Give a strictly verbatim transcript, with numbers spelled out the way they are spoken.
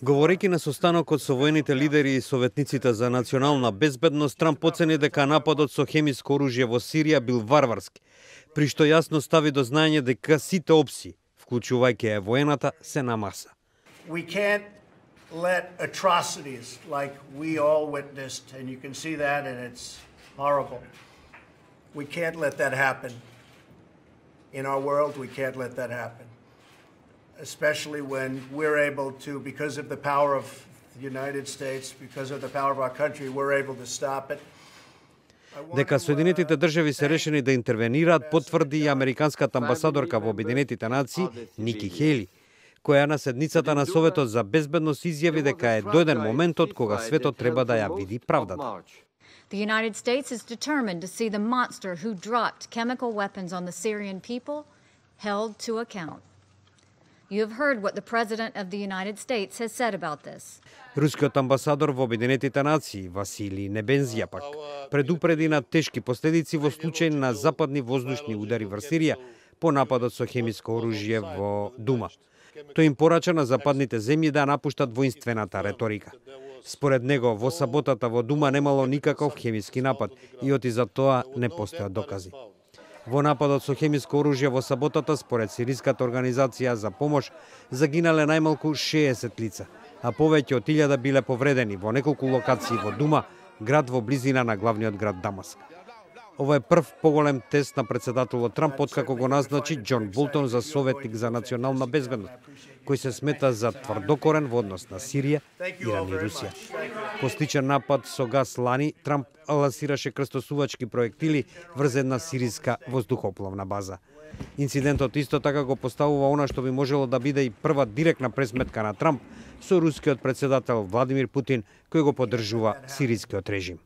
Говорејќи на состанокот со воените лидери и советниците за национална безбедност, Трамп оцени дека нападот со хемиско оружје во Сирија бил варварски, при што јасно стави до знаење дека сите опции, вклучувајќи е воената, се на маса. We can't let atrocities like we all witnessed, and you can see that, and it's horrible. We can't let that happen. In our world, we can't let that happen. Especially when we're able to, because of the power of the United States, because of the power of our country, we're able to stop it. Дека Соединетите држави се решени да интервенираат, потврди и американската амбасадорка во Обединетите нации Ники Хели, која на седницата на Советот за безбедност изјави дека е дојден моментот кога светот треба да ја види правдата. The United States is determined to see the monster who dropped chemical weapons on the Syrian people held to account. You have heard what the President of the United States has said about this. Рускиот амбасадор во Обединетите нации Василий Небензија пак предупреди на тешки последици во случај на западни воздушни удари врз Сирија по нападот со хемиско оружје во Дума. Тој им порача на западните земји да напуштат воинствената реторика. Според него, во саботата во Дума немало никаков хемиски напад и оти за тоа не постојат докази. Во нападот со хемиско оружје во саботата, според Сириската организација за помош, загинале најмалку шеесет лица, а повеќе од илјада биле повредени во неколку локации во Дума, град во близина на главниот град Дамаск. Ова е прв поголем тест на председателот Трамп откако го назначи Џон Болтон за советник за национална безбедност, кој се смета за тврдокорен во однос на Сирија, Иран и Русија. По сличен напад со газ лани, Трамп лансираше крстосувачки проектили врз една сириска воздухопловна база. Инцидентот исто така го поставува она што би можело да биде и прва директна пресметка на Трамп со рускиот председател Владимир Путин, кој го поддржува сирискиот режим.